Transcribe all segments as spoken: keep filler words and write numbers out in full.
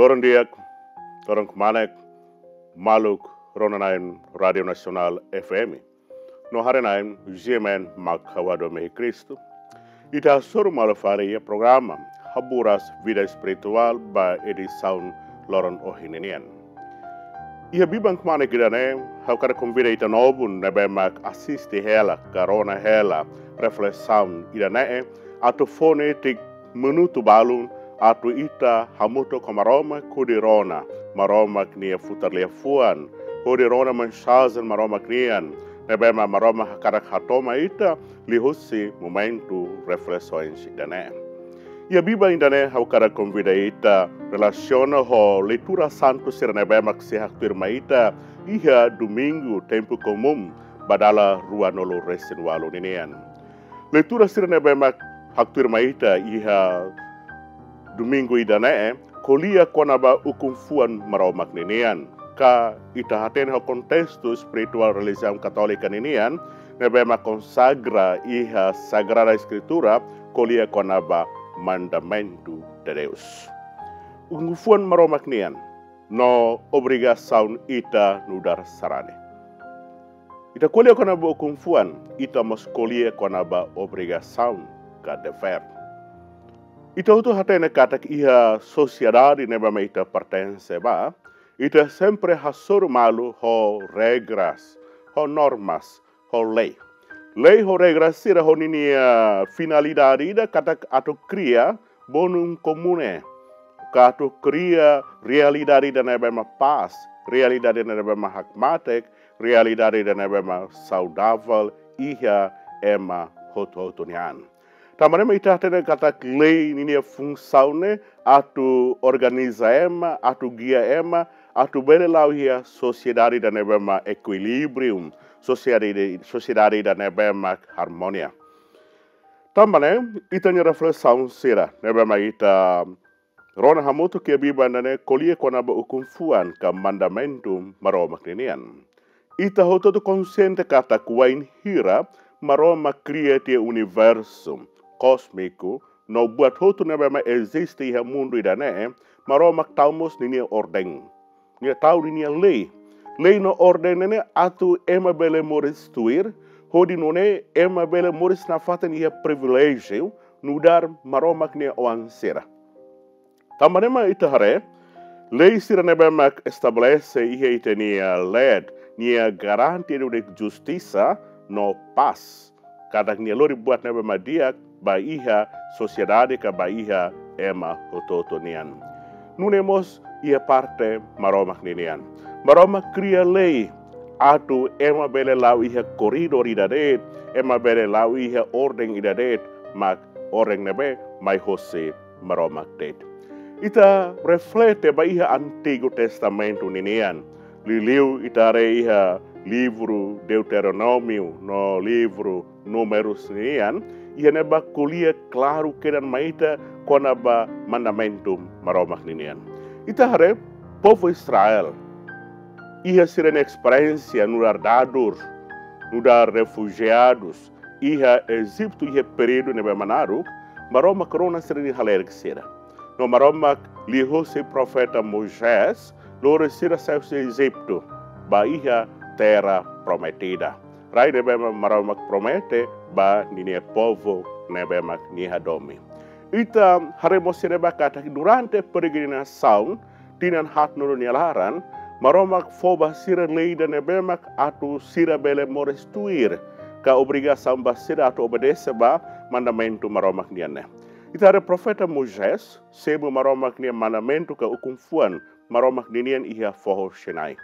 Loron di'ak, loron kmanek, maluk rona-na'in Rádiu Nasionál F M no haree-na'in G M N mak ha'u Ado Mehi Kristu. Ita hasoru malu fali iha programa Haburas Vida Espirituál ba edisaun loron ohin ninian. Iha biban kmanek ida-ne'e, ha'u hakarak konvida ita-boot ne'ebé mak asiste hela, ka rona hela reflesaun ida-ne'e, atu fó netik minutu balun, atu ita hamutuk ho Maromak hodi rona Maromak nia futar liafuan, hodi rona mensajen Maromak nian ne'ebé mak Maromak hakarak hato'o mai ita liuhusi momentu reflesaun ida-ne'e. Iha biban ida-ne'e ha'u hakarak konvida ita relasiona ho leitura santu sira ne'ebé mak sei haktuir mai ita iha Domingu Tempu Komún ba dala ruanulu-resin-ualu ninian. Leitura sira ne'ebé mak haktuir mai ita iha Domingu ida-ne'e ko'alia kona-ba ukun-fuan Maromak ninian. Ka ita hatene ho kontestu espirituál relijiaun katólika ninian, ne'ebé mak konsagra iha Sagrada Eskritura, ko'alia kona-ba mandamentu de Deus. Ukun-fuan Maromak nian no obrigasaun ita nu'udar sarani. Ita ko'alia kona-ba ukun-fuan, ita mós ko'alia kona-ba obrigasaun ka devér. Ita hotu hatene katak iha sosiedade ne'ebé mak ita pertense ba, ita sempre hasoru malu ho regras, ho normas, ho lei. Lei ho regras sira ho ninia finalidade ida katak atu kria bonum comune, ka atu kria realidade ida ne'ebé mak pás, realidade ida ne'ebé mak hakmatek, realidade ida ne'ebé mak saudavel iha ema hotu-hotu nian. Tanba ne'e mak ita hatene katak lei ninia funsaun ne'e atu organiza ema, atu gia ema, atu bele la'o iha sosiedade ida ne'ebé mak ekuilíbriu, sosiedade, sosiedade ida ne'ebé mak armonia. Tanba ne'e, ita-nia reflesaun sira ne'ebé mak ita rona hamutuk iha biban ida-ne'e ko'alia kona-ba ukun-fuan ka mandamentu Maromak ninian. Ita hotu-hotu konsiente katak wainhira Maromak kria tiha universu kósmiku no buat hotu ne'ebé mak eziste iha mundu ida-ne'e, Maromak tau mós ninia orden. Nia tau ninia lei. Lei no orden ne'e atu ema bele moris tuir, hodi nune'e ema bele moris nafatin iha priviléjiu nu'udar Maromak nia oan sira. Tanba ne'e mak ita haree, lei sira ne'ebé mak estabelese iha ita-nia leet, nia garante ida-ne'e justisa no pás. Katak nia lori buat ne'ebé mak di'ak ba iha sosiedade ka ba iha ema hotu-hotu nian. Nune'e mós iha parte Maromak ninian. Maromak kria lei atu ema bele la'o iha koridór ida de'it, ema bele la'o iha orden ida de'it, mak orden ne'ebé mai hosi Maromak de'it. Ita reflete ba iha Antigu Testamentu ninian. Liuliu ita haree iha livru Deuteronómiu no livru Númerus nian, iha ne'ebá ko'alia klaru kedan mai ita kona-ba mandamentu Maromak ninian. Ita haree povu Israel iha sira-nia esperiénsia nu'udar dadur, nu'udar refujiadus iha Ejitu iha períodu ne'ebé mak naruk, Maromak rona sira-nia halerik sira. No Maromak liuhusi profeta Moisés lori sira sai husi Ejitu ba iha Terra Prometida, rai ne'ebé mak Maromak promete ba ninia povu ne'ebé mak nia hadomi. Ita haree mós iha ne'ebá katak durante peregrinasaun tinan haatnulu nia laran, Maromak fó ba sira lei ida ne'ebé mak atu sira bele moris tuir, ka obrigasaun ba sira atu obedese ba mandamentu Maromak nian ne'e. Ita haree profeta Moisés simu Maromak nia mandamentu ka ukun-fuan Maromak ninian iha foho Sinai.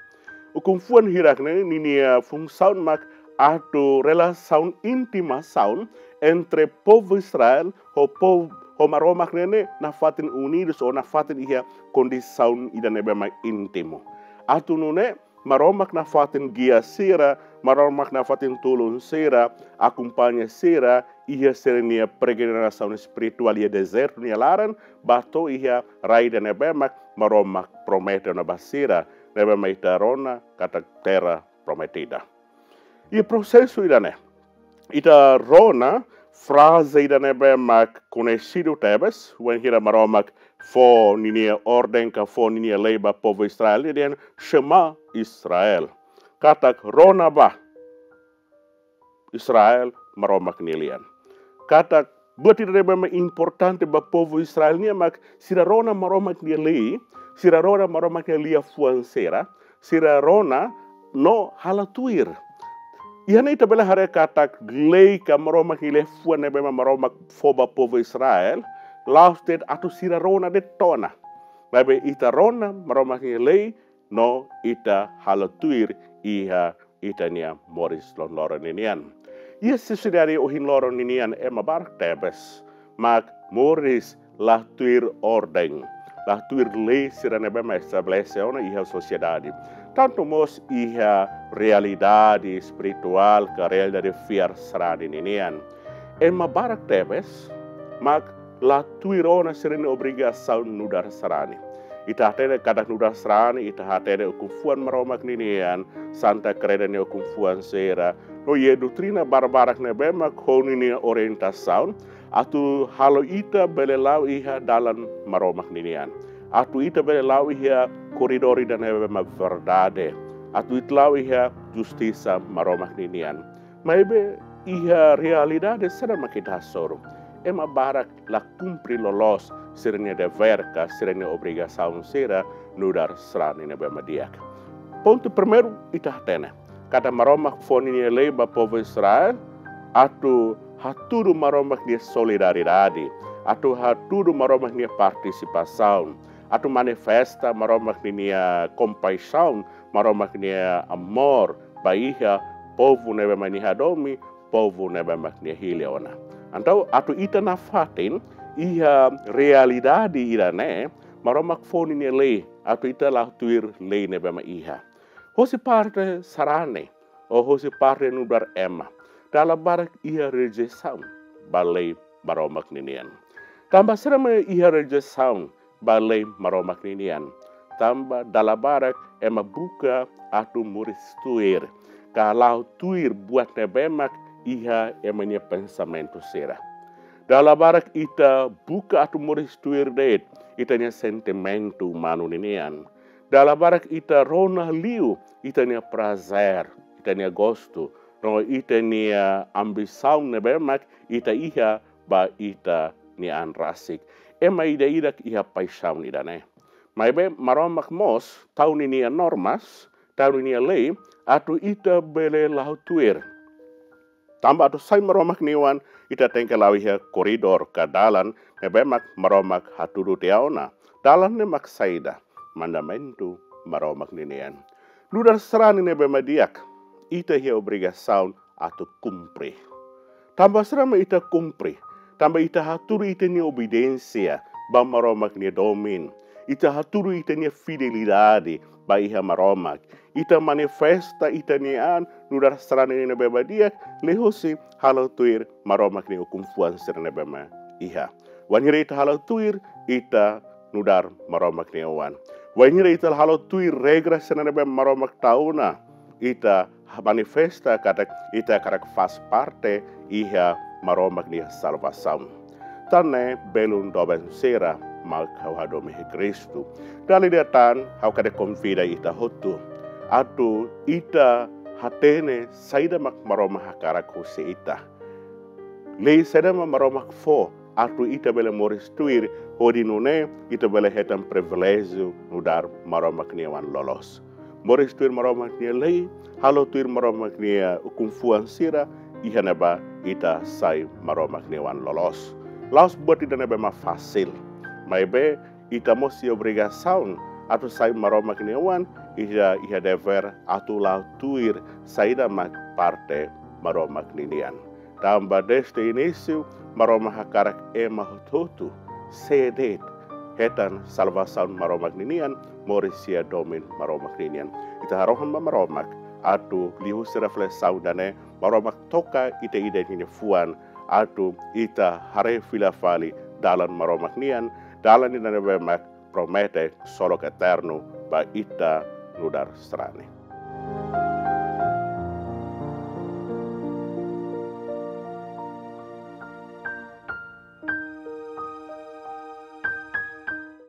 Ukun-fuan hirak ne'e ninia funsaun mak atu relasaun, intimasaun entre povu Israel ho povu, ho Maromak ne'e nafatin unidus ou nafatin iha kondisaun ida ne'ebé mak íntimu. Atu nune'e Maromak nafatin gia sira, Maromak nafatin tulun sira, akompaña sira iha sira-nia peregrinasaun espirituál iha dezertu nia laran, ba to'o iha rai ida ne'ebé mak Maromak promete ona ba sira, ne'ebé mak ita rona katak Terra Prometida. Iha prosesu ida-ne'e, ita rona fraze ida ne'ebé mak koñesidu tebes, wainhira Maromak fó ninia orden ka fó ninia lei ba povu Israel, nia dehan Shema Israel. Katak rona ba Israel Maromak nia lian. Katak buat ida ne'ebé mak importante ba povu Israel nian mak sira rona Maromak nia lei, sira rona Maromak nia liafuan sira, sira rona no halo tuir. Iha ne'e ita bele haree katak lei ka Maromak nia liafuan ne'ebé mak Maromak fó ba povu Israel, la'ós de'it atu sira rona de'it ona. Maibé ita rona Maromak nia lei, no ita halo tuir iha ita-nia moris loroloron ninian. Iha sosiedade ohin loron ninian ema barak tebes mak moris la tuir orden, la tuir lei sira ne'ebé mak estabelese ona iha sosiedade. Tantu mós iha realidade espirituál ka realidade fiar sarani ninian. Ema barak tebes mak la tuir ona sira-nia obrigasaun nu'udar sarani. Ita hatene katak nu'udar sarani, ita hatene ukun-fuan Maromak ninian, Santa Kreda nia ukun-fuan sira, no iha doutrina barbarak ne'ebé mak ho ninia orientasaun atu halo ita bele la'o iha dalan Maromak ninian, atu ita bele la'o iha koridór ida ne'ebé mak verdade, atu ita la'o iha justisa Maromak ninian. Maibé iha realidade saida mak ita hasoru? Ema barak la kumpre loloos sira-nia devér ka sira-nia obrigasaun sira nu'udar sarani ne'ebé mak di'ak. Pontu primeiru, ita hatene katak Maromak fó ninia lei ba povu Israel atu hatudu Maromak nia solidariedade, atu hatudu Maromak nia partisipasaun, atu manifesta Maromak ninia kompaixaun, Maromak nia amór ba iha povu ne'ebé mak nia hadomi, povu ne'ebé mak nia hili ona. Entaun atu ita nafatin iha realidade ida-ne'e, Maromak fó ninia lei atu ita la tuir lei ne'ebé mak iha. Hosi parte sarani, ou hosi parte nu'udar ema, dala barak iha rejeisaun ba lei Maromak ninian. Tanba saida mak iha rejeisaun ba lei Maromak ninian? Tanba dala barak ema buka atu moris tuir, ka la'o tuir buat ne'ebé mak iha ema nia pensamentu sira. Dala barak ita buka atu moris tuir de'it ita-nia sentimentu umanu ninian. Dala barak ita rona liu ita-nia prazer, ita-nia gostu, no ita-nia ambisaun ne'ebé mak ita iha ba ita-nia an rasik. Ema ida-idak iha paixaun ida-ne'e. Maibé Maromak mós tau ninia normas, tau ninia lei, atu ita bele la'o tuir. Tanba atu sai Maromak nia oan, ita tenke la'o iha koridór ka dalan ne'ebé mak Maromak hatudu tiha ona. Dalan ne'e mak saida? Mandamentu Maromak ninian. Nu'udar sarani ne'ebé mak di'ak, ita iha obrigasaun atu kumpre. Tanba saida mak ita kumpre? Tanba ita hatudu ita-nia obediénsia ba Maromak nia domin. Ita hatudu ita-nia fidelidade ba iha Maromak. Ita manifesta ita-nia an nu'udar sarani ne'ebé mak di'ak liuhosi halo tuir Maromak nia ukun-fuan sira ne'ebé mak iha. Wainhira ita halo tuir, ita nu'udar Maromak nia oan. Wainhira ita halo tuir regra sira ne'ebé Maromak tau ona, ita manifesta katak ita hakarak faz parte iha Maromak nia salvasaun. Tan ne'e belun doben sira mak ha'u hadomi iha Kristu. Dala ida tan ha'u hakarak konvida ita hotu atu ita hatene saida mak Maromak hakarak husi ita. Lei saida mak Maromak fó atu ita bele moris tuir, hodi nune'e ita bele hetan priviléjiu nu'udar Maromak nia oan loloos. Moris tuir Maromak nia lei, halo tuir Maromak nia ukun-fuan sira, iha ne'ebá ita sai Maromak nia oan loloos. La'ós buat ida ne'ebé mak fasil. Maibé ita mós iha obrigasaun atu sai Maromak nia oan, iha, iha devér atu la'o tuir saida mak parte Maromak ninian. Tanba dezde inísiu, Maromak hakarak ema hotu-hotu, sé de'it, hetan salvasaun Maromak ninian, moris iha domin Maromak ninian. Ita harohan ba Maromak atu liuhusi reflesaun ida-ne'e, Maromak toka ita ida-idak nia fuan, atu ita haree fila fali dalan Maromak nian, dalan ida ne'ebé mak promete ksolok eternu ba ita nu'udar sarani.